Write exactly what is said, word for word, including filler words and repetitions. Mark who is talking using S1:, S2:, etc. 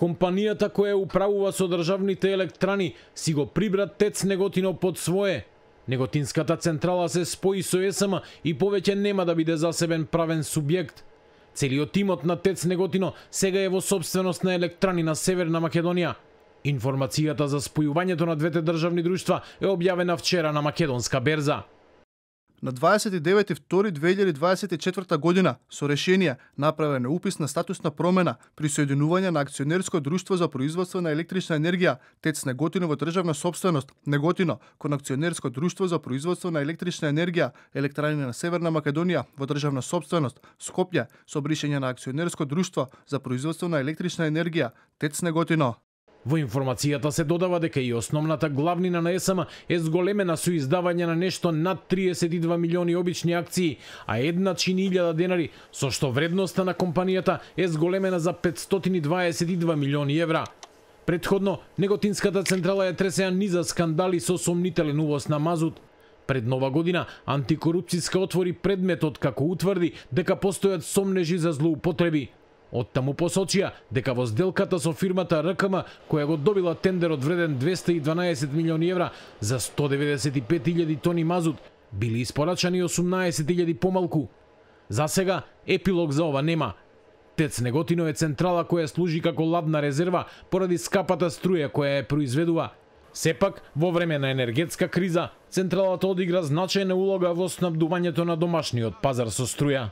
S1: Компанијата која управува со државните електрани си го прибра ТЕЦ Неготино под свое. Неготинската централа се спои со ЕСМ и повеќе нема да биде засебен правен субјект. Целиот тимот на ТЕЦ Неготино сега е во собственост на електрани на Северна Македонија. Информацијата за спојувањето на двете државни друштва е објавена вчера на македонска берза.
S2: На дваесет и девети втори две илјади дваесет и четврта година со решение направен е упис на статусна промена при соединување на акционерско друштво за производство на електрична енергија ТЕЦ Неготино во државна собственост Неготино кон акционерско друштво за производство на електрична енергија Електрани на Северна Македонија во државна собственост Скопје со бришење на акционерско друштво за производство на електрична енергија ТЕЦ Неготино.
S1: Во информацијата се додава дека и основната главнина на ЕСМ е зголемена со издавање на нешто над триесет и два милиони обични акции, а една чини илјада денари, со што вредноста на компанијата е зголемена за петстотини дваесет и два милиони евра. Претходно, Неготинската централа е тресеа низа скандали со сомнителен увоз на мазут. Пред нова година, антикорупцијска отвори предметот како утврди дека постојат сомнежи за злоупотреби. Оттаму посочија дека во сделката со фирмата РКМ, која го добила тендерот вреден двесте и дванаесет милиони евра за сто деведесет и пет илјади тони мазут, били испорачани осумнаесет илјади помалку. За сега, епилог за ова нема. ТЕЦ Неготино е централа која служи како ладна резерва поради скапата струја која ја произведува. Сепак, во време на енергетска криза, централата одигра значајна улога во снабдувањето на домашниот пазар со струја.